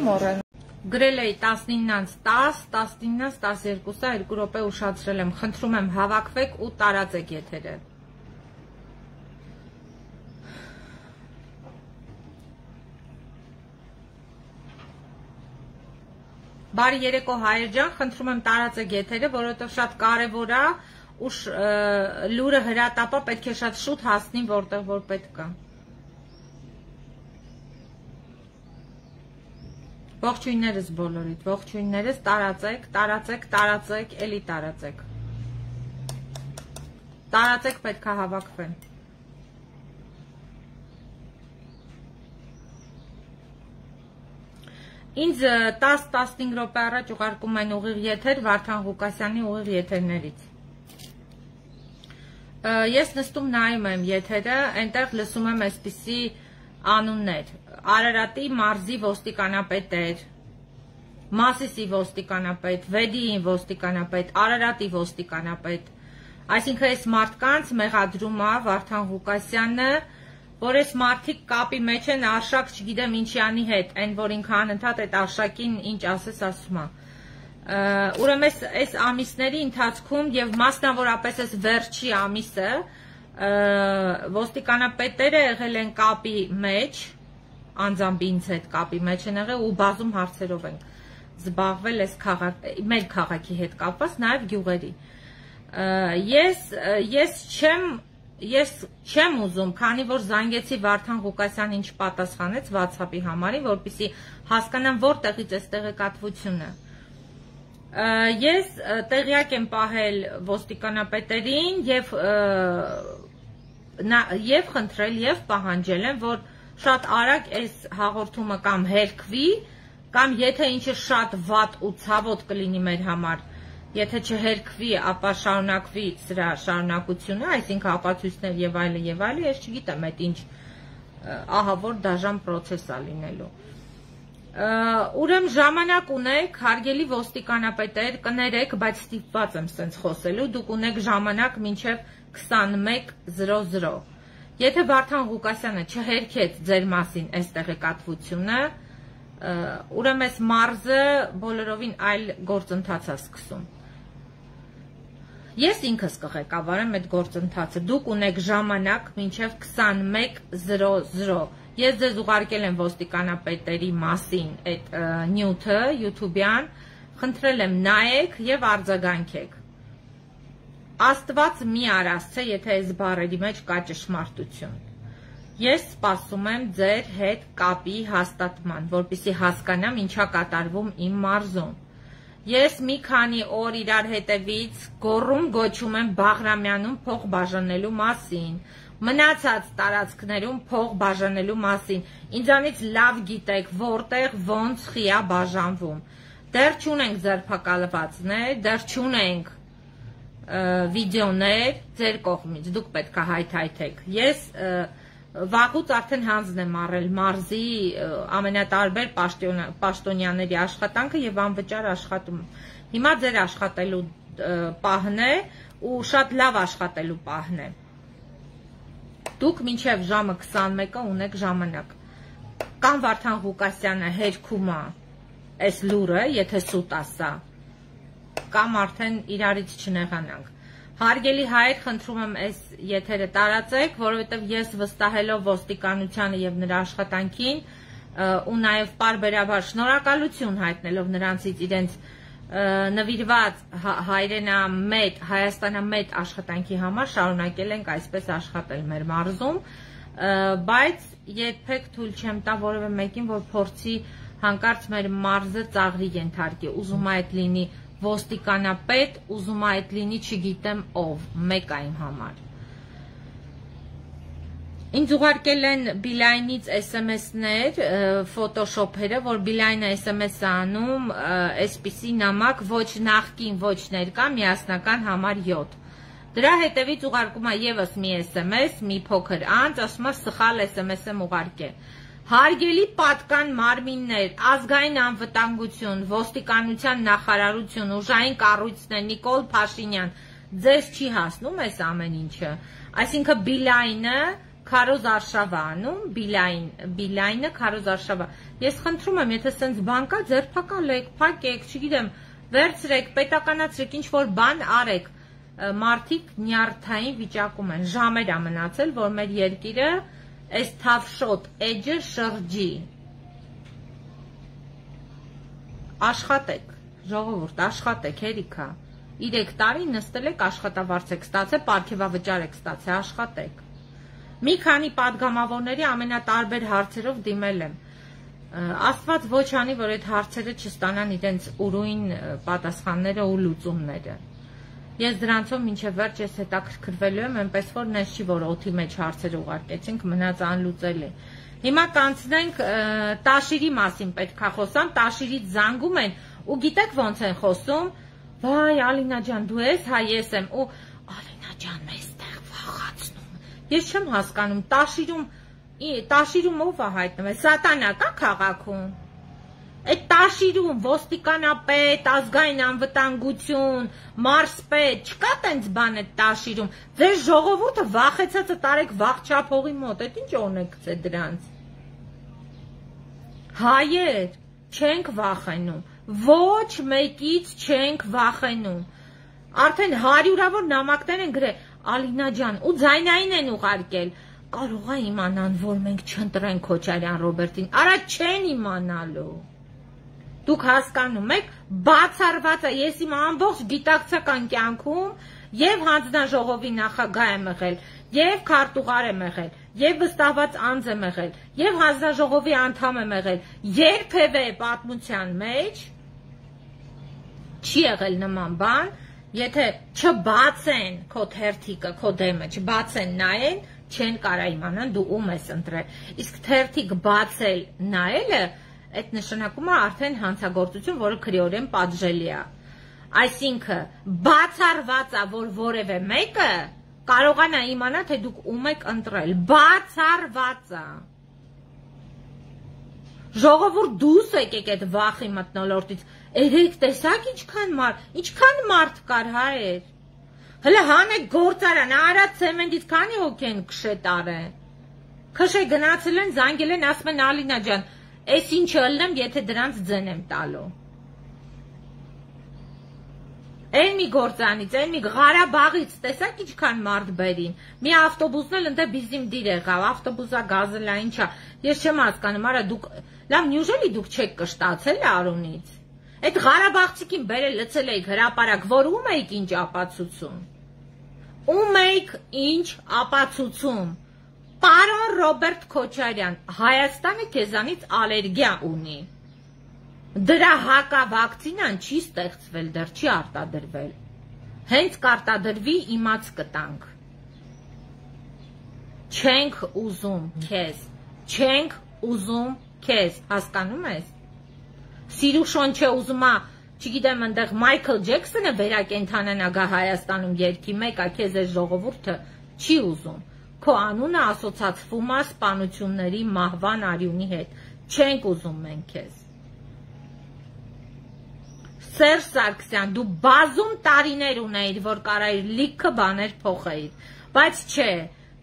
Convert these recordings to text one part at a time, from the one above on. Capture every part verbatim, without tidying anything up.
Մոռան գրել էի տասնիննից տաս, տասնիննից տասներկուսը երկու րոպե ուշացրել եմ, խնդրում եմ հավաքվեք ու տարածեք եթերը։ Բարի երեկո հայեր ջան, խնդրում եմ տարածեք եթերը, որովհետև շատ կարևոր է ու լուրը հրատապա պետք է շատ շուտ հասնի որտեղ որ պետք է։ Ողջույններս բոլորիդ, ողջույններս, տարածեք, տարածեք, տարածեք, էլի տարածեք։ Տարածեք պետք է հավաքվեն։ Ինձ տաս տասնհինգ րոպե առաջ ուղարկում են ուղիղ եթեր Վարդան Ղուկասյանի ուղիղ եթերներից։ Ես նստում նայում եմ եթերը, այնտեղ լսում եմ այսպիսի անուններ, Արարատի մարզի ոստիկանապետեր, Մասիսի ոստիկանապետ, Վեդիի ոստիկանապետ, Արարատի ոստիկանապետ, այսինքն այս մարդկանց մեղադրում է Վարդան Ղուկասյանը, որ այս մարդիկ կապի մեջ են Արշակ չգիտեմ ինչի անի հետ, այն որ ինքը անընդհատ այդ Արշակին ինչ ասես ասում է։ Ուրեմն այս ամիսների ընթացքում եւ մասնավորապես այս վերջի ամիսը ոստիկանապետերը եղել են կապի մեջ, անձամբ ինձ հետ կապի մեջ են եղել ու բազում հարցերով են զբաղվել այս մեր քաղաքի հետ կապված, նաեւ գյուղերի։ Ես ես չեմ Ես չեմ ուզում, քանի որ զանգեցի Վարդան Ղուկասյանին ինչ պատասխանեց WhatsApp-ի համարին, որպեսզի հասկանամ որտեղից է տեղեկատվությունը։ Ես տեղյակ եմ պահել ոստիկանապետերին եւ եւ խնդրել եւ պահանջել եմ, որ շատ արագ այս հաղորդումը կամ հերքվի, կամ եթե ինչը շատ վատ ու ցավոտ կլինի մեր համար, եթե չհերքվի, ապա շարունակվի սրա շարունակությունը, այսինքն ապացույցներ եւ այլը եւ այլը, ես չգիտեմ այդ ինչ ահավոր դաժան process է լինելու։ Ուրեմն ժամանակ ունեք, հարգելի ոստիկանապետեր, կներեք, բայց ստիպված եմ սենց խոսելու, դուք ունեք ժամանակ մինչեւ քսանմեկ զրո զրո։ Եթե Վարդան Ղուկասյանը չհերքեց ձեր մասին այս տեղեկատվությունը, ուրեմն այս մարզը բոլորովին այլ գործընթաց է սկսում։ Ես ինքս կղեկավարեմ այդ գործընթացը, դուք ունեք ժամանակ մինչև քսանմեկ զրո զրո։ Ես ձեզ ուղարկել եմ ոստիկանապետերի մասին այդ նյութը YouTube-յան, խնդրել եմ նայեք եւ արձագանքեք։ Աստված մի արասցե, եթե այս բառերի մեջ կա ճշմարտություն։ Ես սպասում եմ ձեր հետ կապի հաստատման, որպեսզի հասկանամ ինչա կատարվում իմ մարզում։ Ես մի քանի օր իրար հետևից գոռում գոչում եմ Բաղրամյանում փող բաժանելու մասին, մնացած տարածքներում փող բաժանելու մասին։ Ինձանից լավ գիտեք որտեղ ոնց խիա բաժանվում։ Դեռ չունենք ձերբակալվածներ, դեռ չունենք վիդեոներ ձեր կողմից, դուք պետք է հայթայթեք։ Ես վաղուց արդեն հանձն եմ առել մարզի ամենատարբեր պաշտոնյաների աշխատանքը եւ անվճար աշխատում։ Հիմա ձեր աշխատելու պահն է ու շատ լավ աշխատելու պահն է։ Դուք մինչեւ ժամը քսանմեկը ունեք ժամանակ։ Կամ Վարդան Ղուկասյանը հերքում է այս լուրը, եթե սուտ ասա, կամ արդեն իրարից չնեղանանք։ Հարգելի հայր, խնդրում եմ այս եթերը տարածեք, որովհետև ես վստահելով ոստիկանությանը եւ նրա աշխատանքին ու նաեւ պարբերաբար շնորհակալություն հայտնելով նրանցից իրենց նվիրված հայրենամետ, հայաստանամետ աշխատանքի համար շարունակել ենք այսպես աշխատել մեր մարզում, բայց երբեք թույլ չեմ տա որևէ մեկին, որ փորձի հանկարծ մեր մարզը ծաղրի ենթարկի, ուզում է այդ լինի ոստիկանապետ, ուզում է այդ լինի չգիտեմ ով, մեկ այն համար։ Ինձ ուղարկել են Բիլայնից էս էմ էսներ, ֆոտոշոփերը, որ Բիլայնը էս էմ էս անում, այսպիսի նամակ ոչ նախկին, ոչ ներկա, միասնական համար յոթ։ Դրա հետևից ուղարկում է եւս մի էս էմ էս, մի փոքր անց, ասում է սխալ էս էմ էս եմ ուղարկել։ Հարգելի պատկան մարմիններ, ազգային անվտանգություն, ոստիկանության նախարարություն, ուժային կառույցներ, Նիկոլ Փաշինյան, ձեզ չի հասնում այս ամեն ինչը։ Այսինքն Բիլայնը Քարոզ Արշավա անում, Բիլայնը Քարոզ Արշավա։ Ես խնդրում եմ, եթե սենց բան կա, ձերբակալեք, փակեք, չգիտեմ, վերցրեք, պետականացրեք, ինչ որ բան արեք։ Մարդիկ նյարդային վիճակում են, ժամեր ա մնացել, որ մեր երկիրը այս թավշոտ էջը շրջի։ Աշխատեք, ժողովուրդ, աշխատեք, հերիքա։ Իրեք տարի նստել եք, աշխատավարձ եք ստացել, պարգևավճար եք ստացել, աշխատեք։ Մի քանի падգամավորների ամենատարբեր հարցերով դիմել եմ։ Աստված ոչ անի, որ այդ հարցերը չստանան իրենց ուրույն պատասխանները ու լուծումները։ Ես դրանցով մինչև վերջ ես հետաքրքրվելու եմ, այնպես որ նես չի, որ օդի մեջ հարցեր ուղարկեցինք, մնաց անլուծելի։ Հիմա կանցնենք Տաշիրի մասին պետք է խոսամ, Տաշիրից զանգում են ու գիտեք ոնց են խոսում, վայ Ալինա ջան, դու ես, հա ես եմ, ու Ալինա ջան, մեզ տեղ վախացնում։ Ես չեմ հասկանում, Տաշիրում, Տաշիրում ով է հայտնվել, Սատանա կա քաղաքում։ Այդ Տաշիրում ոստիկանապետ, ազգային անվտանգություն, մարզպետ, չկա տենց բան այդ Տաշիրում։ Ձեր ժողովուրդը վախեցածը տարեք Վաղչափողի մոտ, այդ ինչ օրնեք է դրանց։ Հայեր, չենք վախենում, ոչ մեկից չենք վախենում։ Արդեն հարյուրավոր նամակներ են գրել, Ալինա ջան, ու ձայնային են ուղարկել։ Կարող է իմանան, որ մենք չընտրենք Քոչարյան Ռոբերտին, արա չեն իմանալու։ Դուք հասկանում եք, բացառված է, ես իմ ամբողջ գիտակցական կյանքում եւ հանձնաժողովի նախագահ եմ եղել, եւ քարտուղար եմ եղել, եւ վստահված անձ եմ եղել, եւ հանձնաժողովի անդամ եմ եղել, երբևէ պատմության մեջ չի եղել նման բան, եթե չբացեն քո թերթիկը, քո դեմը, չբացեն նայեն, չեն կարա իմանան դու ում ես ընտրել։ Իսկ թերթիկ բացել նայելը այդ նշանակում է արդեն հանցագործություն, որը քրեորեն պատժելի է։ Այսինքն բացառված է, որ որևէ մեկը կարողանա իմանա, թե դուք ում եք ընտրել։ Բացառված է։ Ժողովուրդ դուրս եկեք այդ վախի մթնոլորտից։ Երեք տեսակ ինչքան մարդ, ինչքան մարդ կար հայեր։ Հələ հանեք գործարան, արած ցեմենտից քանի հոգի են քշետ արեն։ Քշե գնացել են, զանգել են, ասում են Ալինա ջան, այս ինչը ըլնեմ, եթե դրանց ձեն եմ տալու։ Այն մի գործանից, այն մի Ղարաբաղից, տեսակ ինչքան մարդ բերին։ Մի ավտոբուսն էլ ընդ բիզիմ դիր եղավ, ավտոբուսա գազելա ինչա։ Ես չեմ հասկանում, արա դուք, լավ, նյուժելի դուք չեք կշտացել Արունից։ Այդ Ղարաբաղցիքին բերել լցել էիք հրապարակ, որ ում էիք ինչ ապացուցում։ Ում էիք ինչ ապացուցում։ Պարոն Ռոբերտ Քոչարյան, Հայաստանը քեզանից ալերգիա ունի։ Դրա հակավակցինան չի ստեղծվել, դեռ չի արտադրվել։ Հենց կարտադրվի իմաց կտանք։ Չենք ուզում քեզ, չենք ուզում քեզ, հասկանում ես։ Սիրուշոն չէ ուզում է, չգիտեմ, ընդեղ Մայքլ Ջեքսոնը վերակենդանանա գա Հայաստանում երկի մեկ, ա քեզ այս ժողովուրդը չի ուզում։ Քո անունը ասոցացվում է սպանությունների մահվան արյունի հետ։ Չենք ուզում մենք քեզ։ Սերժ Սարգսյան, դու բազում տարիներ ունեիր, որ կարայիր լիքը բաներ փոխեիր, բայց չէ,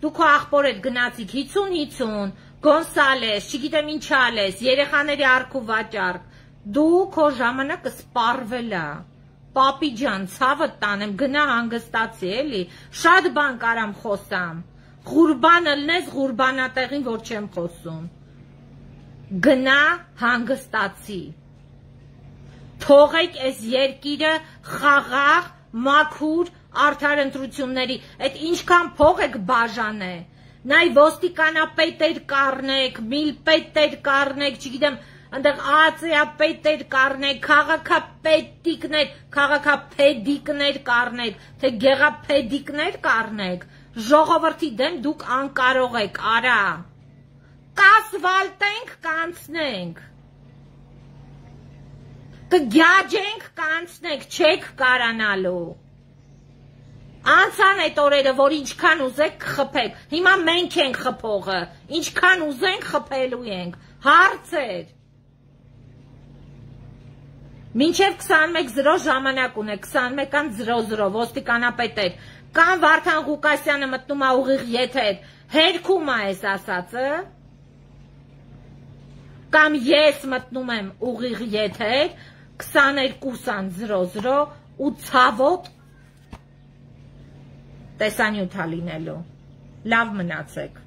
դու քո աղբոր հետ գնացիք հիցուն հիցուն, Գոնսալես, չգիտեմ ինչ ալես, երեխաների արք ու վաճառք, դու քո ժամանակը սպառվել է, պապի ջան, ցավը տանեմ, գնա հանգստացի, էլի, շատ բան կարամ խոսամ, Ղուրբան ըլնես Ղուրբանատեղին, որ չեմ խոսում, գնա հանգստացի, թողեք այս երկիրը խաղաղ, մաքուր, արդար ընտրությունների, այդ ինչքան փող եք բաժանե, նայ ոստիկանապետեր կառնեք, միլպետեր կառնեք, չգիտեմ, այնտեղ ԱԱՑ-պետեր կառնեք, քաղաքապետիկներ, քաղաքապեդիկներ կառնեք, թե գեղապեդիկներ կառնեք, ժողովրդի դեմ դուք անկարող եք, արա, կասվալտենք, կանցնենք, կգյաջենք, կանցնենք, չեք կարանալու, անցան այդ օրերը, որ ինչքան ուզեք կխփեք, հիմա մենք ենք խփողը, ինչքան ուզենք խփելու ենք, հարցեր, մինչև քսանմեկ զրո ժամանակ ունեք, քսանմեկան զրո զրո, ոստիկանապետեր, Կամ Վարդան Ղուկասյանը մտնում է ուղիղ եթեր, հերքում է այս ասածը, կամ ես մտնում եմ ուղիղ եթեր քսաներկու զրո զրո ու ցավոտ տեսանյութ է լինելու։ Լավ մնացեք։